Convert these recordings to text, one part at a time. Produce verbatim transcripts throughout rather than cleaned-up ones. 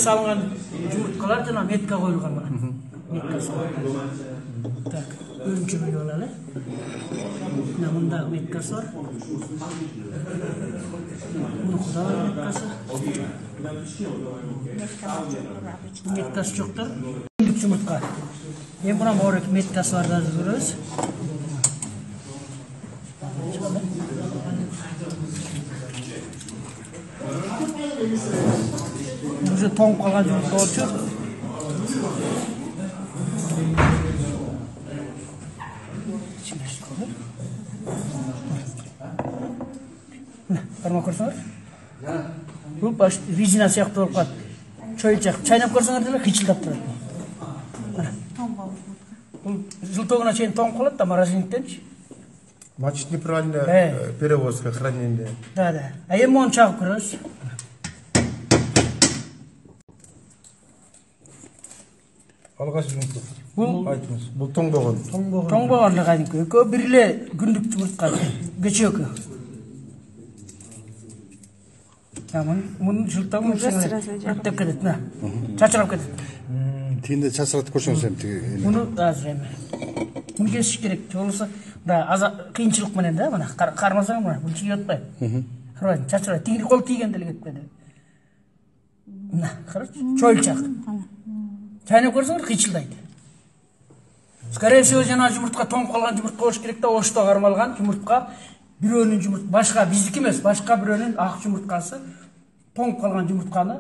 салынган жумурткалар жана метка коюлган мына. Меткасы. Так, өрүнчү болалы. Мына мында меткасы бар. Мунда да меткасы. Меткасы жоктур. Күндүк жумуртка. Эми мына морек меткасы бар да көрөбүз. Уже тоңуп калган жумуртка болчу. Кармап көрсөңөр. Бул баш резина сыяктуу болуп калат. Чоюлчак чайнап көрсөңөр деле кычылдап турат. Бул жылтоогуна чейин тоңуп калат да морозильниктенчи. Значит, неправильно перевозка, хранение. Да, да. А эми мону чагып көрөбүз. Алгачкы жумуртка. Бул айтыңыз. Бул тоңбогон. Тоңбогон кадимки. Экөө бир эле күндүк жумуртка. Кечөөкү. Тамам. Мунун жылтоогун аттап кетет, мына. Чачырап кетет. Тиинде чачыратып көрсөңүз эми тиги. Муну азыр эми. Муну кесиш керек. Болбосо мына аза кыйынчылык менен да, мына кармасаң мына бул чыгып атпайбы? Карабайсың, чачырат. Тиги кол тийген деле кетип кетет. Мына, карачы. Чоюлчак. Чайнап көрсөңөр кычылдайт. Скорее всего, жана жумуртка тоңуп калган жумуртка болуш керек да, ошто кармалган жумуртка. Бирөөнүн жумурт, башка биздики эмес, башка бирөөнүн ак жумурткасы тоңуп калган жумуртканы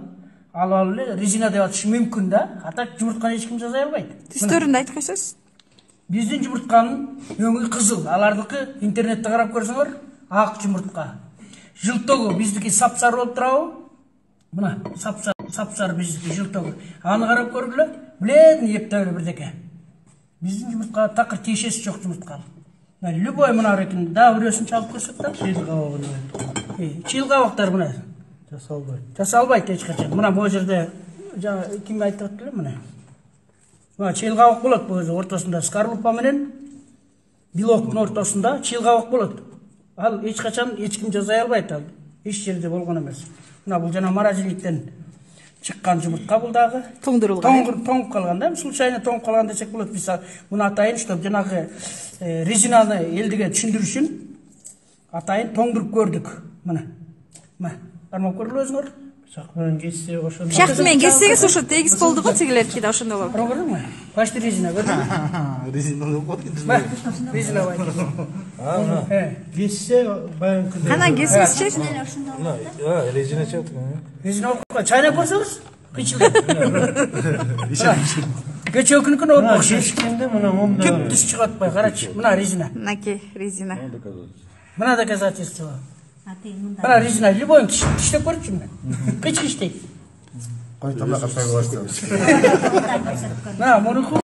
алып алып эле резина деп атышы мүмкүн да. Ата жумуртканы эч ким жасай албайт. Түстөрүн айтып койсоңуз. Биздин жумуртканын өңү кызыл, алардыкы интернетте карап көрсөңөр ак жумуртка. Жылтоогу биздики сапсары болуп турабы? Мына сапсар, сапсар биздики жылтоогу. Аны карап көргүлө, билетин эптеп эле бирдеке. Биздин жумуртка такыр тиешеси жок жумуртка. Мына любой мына экен, да бирөөсүн чалып көрсөк да. Чыйыл кабагы. Э, чыйыл кабактар мына. Жасалбайт. Жасалбайт эч качан. Мына бул жерде жана ким айтып атты эле мына. Мына чыйыл кабак болот бул жерде ортосунда скорлупа менен белоктун ортосунда чыйыл кабак болот. Ал эч качан эч ким жасай албайт ал. Эч жерде болгон эмес. Мына бул жана морозильниктен чыккан жумуртка бул дагы. Тоңдурулган. Тоңуп калган да, случайно тоңуп калган десек болот. Биз муну атайын, чтоб жанагы резинаны элдиге түшүндүрүш үчүн атайын тоңдуруп көрдүк. Мына. Мына, кармап көргүлө өзүңөр. Пышак менен кессе ошондо. Пышак менен кессеңиз ошо тегиз болду го, тигилерки да ошондой болот. Көрдүңүзбү? Почти резина көрдүңүзбү? Резина болуп калды. Резина бар. А, кессе баягы. Кана кесиңизчи? А, резина чыгат. Резина болуп чайнап көрсөңүз, кычылдайт. Кечөөкүнүкүнө окшойт. Кескенде мына монда. Түп түз чыгып атпай, карачы. Мына резина. Мынакей резина. Мына доказательство. Мына резина любой тиштеп көрчү мына. Кыч кыч дейт. Кайталап катай коесуз. Мына муну